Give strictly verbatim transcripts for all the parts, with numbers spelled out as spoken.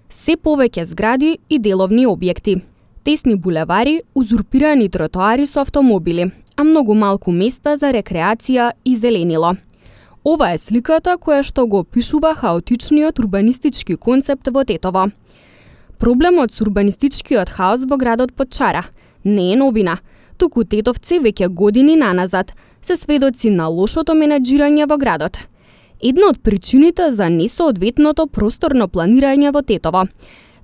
Се повеќе згради и деловни објекти. Тесни булевари, узурпирани тротоари со автомобили, а многу малку места за рекреација и зеленило. Ова е сликата која што го опишува хаотичниот урбанистички концепт во Тетово. Проблемот со урбанистичкиот хаос во градот Потчара не е новина, туку тетовци веќе години наназад се сведоци на лошото менаџирање во градот. Една од причините за несоодветното просторно планирање во Тетово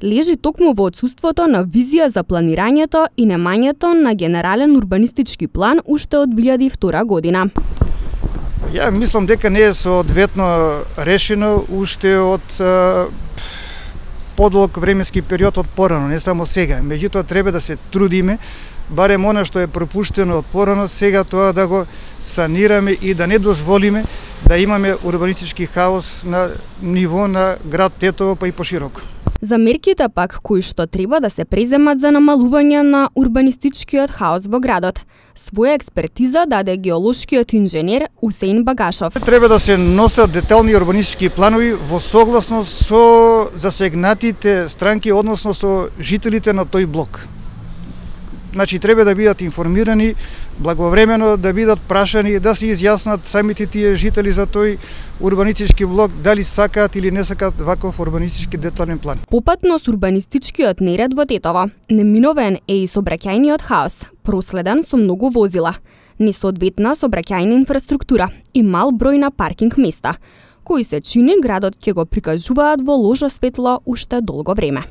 лежи токму во отсуството на визија за планирањето и немањето на генерален урбанистички план уште од две илјади и втора година. Ја мислам дека не е соодветно решено уште од е, подолг временски период од порано, не само сега. Меѓутоа треба да се трудиме, барем она што е пропуштено од порано, сега тоа да го санираме и да не дозволиме да имаме урбанистички хаос на ниво на град Тетово, па и пошироко. За мерките пак кои што треба да се преземат за намалување на урбанистичкиот хаос во градот, своја експертиза даде геолошкиот инженер Усеин Багашов. Треба да се носат детални урбанистички планови во согласност со засегнатите странки, односно со жителите на тој блок. Значи треба да бидат информирани благовремено, да бидат прашани, да се изјаснат самите тие жители за тој урбанистички блок, дали сакаат или не сакаат ваков урбанистички детален план. Попатно со урбанистичкиот неред во Тетово, неминовен е и сообраќајниот хаос, проследен со многу возила, несоодветна сообраќајна инфраструктура и мал број на паркинг места, кои се чини градот ќе го прикажуваат во лошо светло уште долго време.